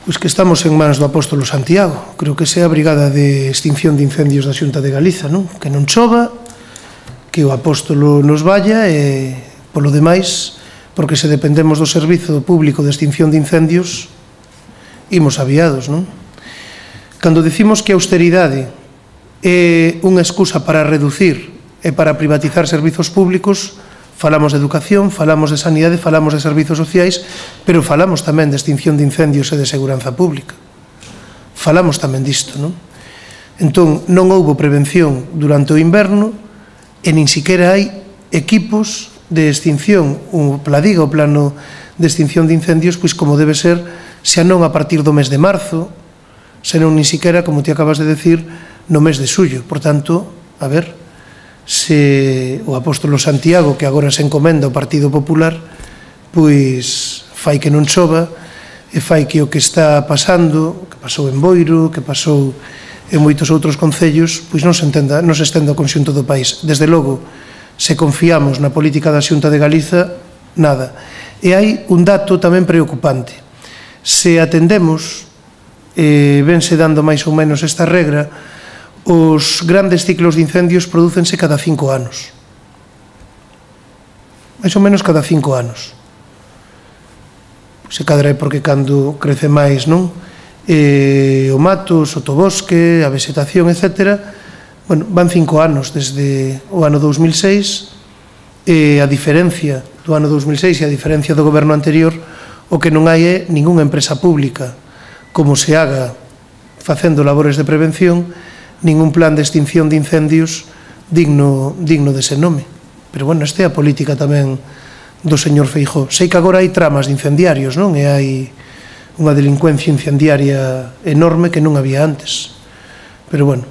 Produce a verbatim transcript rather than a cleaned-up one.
Pois que estamos en mans do apóstolo Santiago. Creo que sea a Brigada de Extinción de Incendios da Xunta de Galiza, non? Que non chova, que o apóstolo nos vaya e, polo demais, porque se dependemos do Servizo Público de Extinción de Incendios, imos aviados, non? Cando dicimos que a austeridade é unha excusa para reducir e para privatizar servizos públicos, falamos de educación, falamos de sanidade, falamos de servizos sociais, pero falamos tamén de extinción de incendios e de seguranza pública. Falamos tamén disto, non? Entón, non houbo prevención durante o inverno e nin siquiera hai equipos de extinción, o pladiga, o plano de extinción de incendios, pois como debe ser, xa non a partir do mes de marzo, senón nin siquiera, como te acabas de decir, no mes de xullo. Por tanto, a ver, se o apóstolo Santiago, que agora se encomenda ao Partido Popular, pois fai que non chova e fai que o que está pasando, que pasou en Boiro, que pasou en moitos outros concellos, pois non se entenda, non se estenda ao conxunto do país. Desde logo, se confiamos na política da Xunta de Galiza, nada. E hai un dato tamén preocupante. Se atendemos, e vense dando máis ou menos esta regra, os grandes ciclos de incendios prodúcense cada cinco anos. Mais ou menos cada cinco anos. Se cadra é porque cando crece máis, non? E o mato, o sotobosque, a vegetación, etcétera, bueno, van cinco anos desde o ano dous mil seis, e a diferencia do ano dous mil seis e a diferencia do goberno anterior, o que non hai é ningunha empresa pública como se haga facendo labores de prevención, ningún plan de extinción de incendios digno, digno dese nome. Pero, bueno, esta é a política tamén do señor Feijóo. Sei que agora hai tramas de incendiarios, non? E hai unha delincuencia incendiaria enorme que non había antes. Pero, bueno,